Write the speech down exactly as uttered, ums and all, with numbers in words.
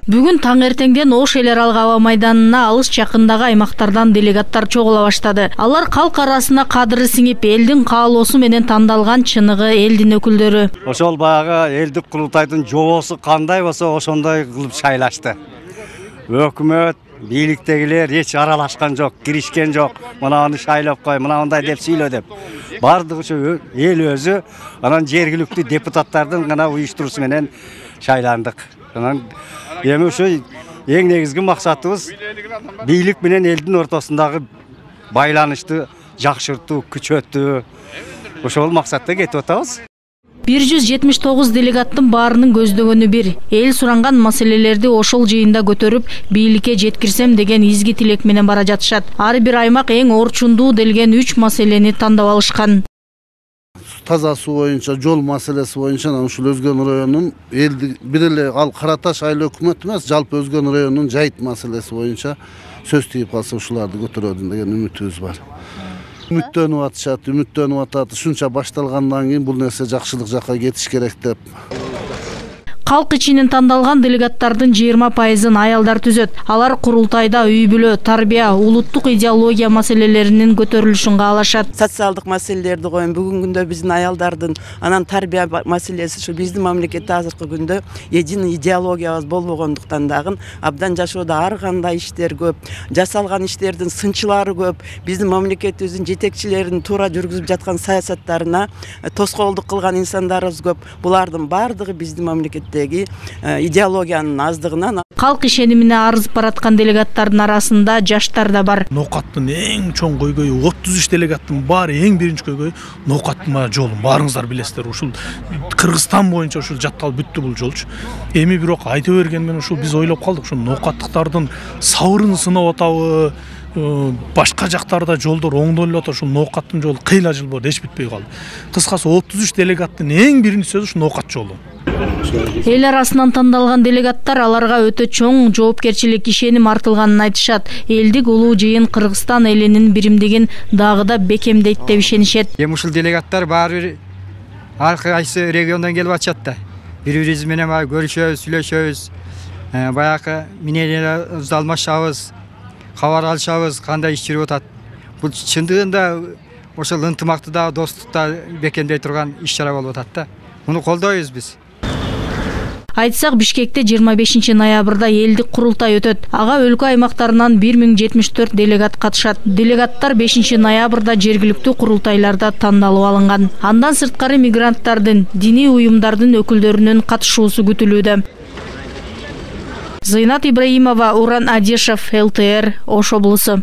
Бүгүн таң эртеңден Ош эл аралык аба майданына алыс жакындагы аймактардан делегаттар чогула баштады. Алар калк арасына кадыры сиңип, элдин каалоосу менен тандалган чыныгы элдин өкүлдөрү. Ошол баягы элдик курултайдын жобосу кандай болсо ошондой кылып шайлашты. Өкмөт, бийликтегилер эч аралашкан жок, киришкен жок. Мына аны шайлап кой, мына мындай деп сүйлө деп. Бардыгы ушу эл өзү, анан жергиликтүү депутаттардын гана уюштуруусу менен шайландык. Анан эми ушу эң негизги максатыбыз бийлик менен элдин ортосундагы байланышты жакшыртуу, күчөтүү. Ошол максатта кетип атабыз. бир жүз жетимиш тогуз делегаттын баарынын көздөгөнү бир. Эл суранган маселелерди ошол жыйында көтөрүп, бийликке жеткирсем деген изги тилек менен бара жатышат. Ар бир аймак эң орчундуу делген үч маселени тандап алышкан. Таза суу боюнча, жол маселеси боюнча ушул Өзгөн районунун элди бир эле ал Кара Таш айыл өкмөт эмес, жалпы Өзгөн районунун жайыт маселеси боюнча сөз тийип калса ушуларды көтөрөдүн деген үмүтүбүз бар. Үмүттөнүп атышат, үмүттөнүп атат. Ушунча башталгандан кийин бул нерсе жакшылык жакка кетиш керек деп. Калк ичинен тандалган делегаттардын жыйырма пайызын аялдар түзөт. Алар курултайда үй-бүлө, тарбия, улуттук идеология маселелеринин көтөрүлүшүн каалашат. Социалдык маселелерди коюн. Бүгүнкү күндө биздин аялдардын анан тарбия маселеси ушу биздин мамлекетте азыркы күндө эдин идеологиябыз болбогондуктан дагы абдан жашоодо ар кандай иштер көп, жасалган иштердин сынчылары көп. Биздин мамлекетибиздин жетекчилеринин туура жүргүзүп жаткан саясаттарына тоскоолдук кылган инсандарыбыз көп. Булардын бардыгы биздин мамлекетте идеологиянын аздыгынан. Калк ишенимине арызып бараткан делегаттардын арасында жаштар да бар. Ноокаттын эң чоң көйгөйү отуз үч делегаттын баары эң биринчи көйгөйү ноокаттын жолун. Баарыңыздар билесиздер, ушул Кыргызстан боюнча ушул жатталып бүттү бул жолчу. Эми бирок айта берген менен ушул биз ойлоп калдык, ушул ноокаттыктардын сабырын сынап атабы, башка жактарда жолдор оңдолуп атат, ушул ноокаттын жолу кыйла жыл болду, эч бүтпөй калды. Кыскасы отуз үч делегаттын эң биринчи сөзү ушул ноокат жолу. Эл арасынан тандалган делегаттар аларга өтө чоң жоопкерчилик, ишеним артылганын айтышат. Элдик улуу жыйын Кыргызстан элинин биримдигин дагы да бекемдейт деп ишенишет. Эми ушул делегаттар баары бир ар кайсы региондон келип атышат да. Бири-бирибиз менен көрүшөбүз, сүйлөшөбүз. Баягы мнениябызды алмашабыз, кабар алышабыз, кандай иш жүрүп атат. Бул чындыгында ошол ынтымакты да, достукту бекемдей турган иш-чара болуп атат да. Муну колдойбуз биз. Айтсак, Бишкекте жыйырма бешинчи ноябрда элдик курултай өтөт. Ага өлкө аймактарынан бир миң жетимиш төрт делегат катышат. Делегаттар бешинчи ноябрда жергиликтүү курултайларда тандалып алынган. Андан сырткары мигранттардын, диний уюмдардын өкүлдөрүнүн катышуусу күтүлүүдө. Зыйнат Ибраимова, Уран Адишев, эл тэ эр, Ош облусу.